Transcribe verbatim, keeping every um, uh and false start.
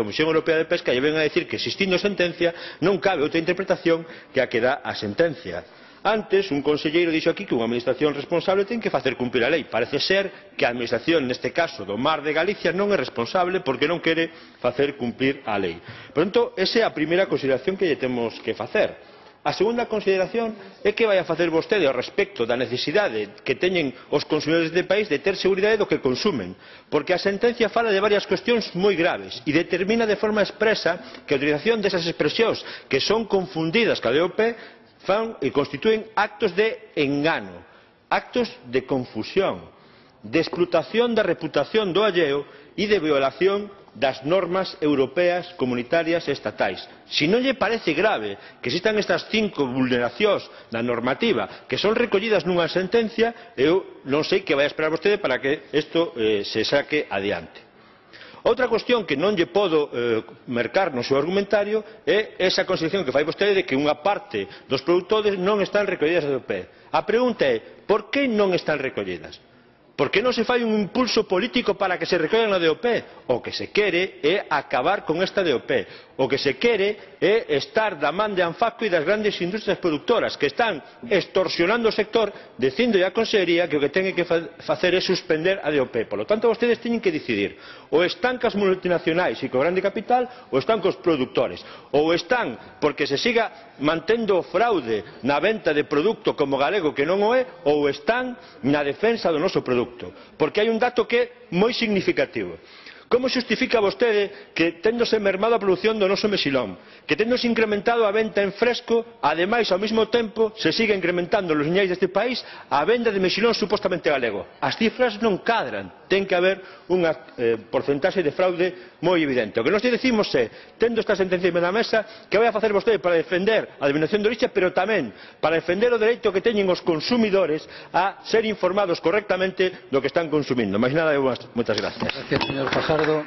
Comisión Europea de Pesca lle ven a dicir que, existindo sentencia, non cabe outra interpretación que a que dá a sentencia. Antes, un conselleiro dixo aquí que unha administración responsable ten que facer cumprir a lei. Parece ser que a administración, neste caso do Mar de Galicia, non é responsable porque non quere facer cumprir a lei. Por tanto, esa é a primeira consideración que lle temos que facer. A segunda consideración é que vai a facer vostede ao respecto da necesidade que teñen os consumidores deste país de ter seguridade do que consumen, porque a sentencia fala de varias cuestións moi graves e determina de forma expresa que a utilización desas expresións que son confundidas ca D O P fan e constitúen actos de engano, actos de confusión, de explotación da reputación do alleo e de violación das normas europeas, comunitarias e estatais. Se non lle parece grave que existan estas cinco vulneracións da normativa que son recollidas nunha sentencia, eu non sei que vai a esperar vostede para que isto eh, se saque adiante. Outra cuestión que non lle podo eh, mercar no seu argumentario é esa consideración que fai vostede de que unha parte dos produtores non están recollidas na D O P. A pregunta é, por que non están recollidas? Por que non se fai un impulso político para que se recollan na D O P? O que se quere é acabar con esta D O P. O que se quere é estar da man de Anfaco e das grandes industrias productoras que están extorsionando o sector, dicindo a Consellería que o que ten que facer é suspender a D O P. Por lo tanto, vostedes teñen que decidir. Ou están cas multinacionais e co grande capital, ou están cos produtores. Ou están porque se siga mantendo o fraude na venta de produto como galego que non o é, ou están na defensa do noso produto. Porque hai un dato que é moi significativo. Como xustifica vostede que, téndose mermado a produción do noso mexilón, que téndose incrementado a venta en fresco, ademais, ao mesmo tempo, se siga incrementando nos liñais deste país a venda de mexilón supostamente galego? As cifras non cadran. Ten que haber unha eh, porcentaxe de fraude moi evidente. O que nós decimos é, tendo esta sentencia na mesa, que vai a facer vostede para defender a denominación de orixe, pero tamén para defender o dereito que teñen os consumidores a ser informados correctamente do que están consumindo. Mais nada, moitas gracias. Gracias, señor Fajardo.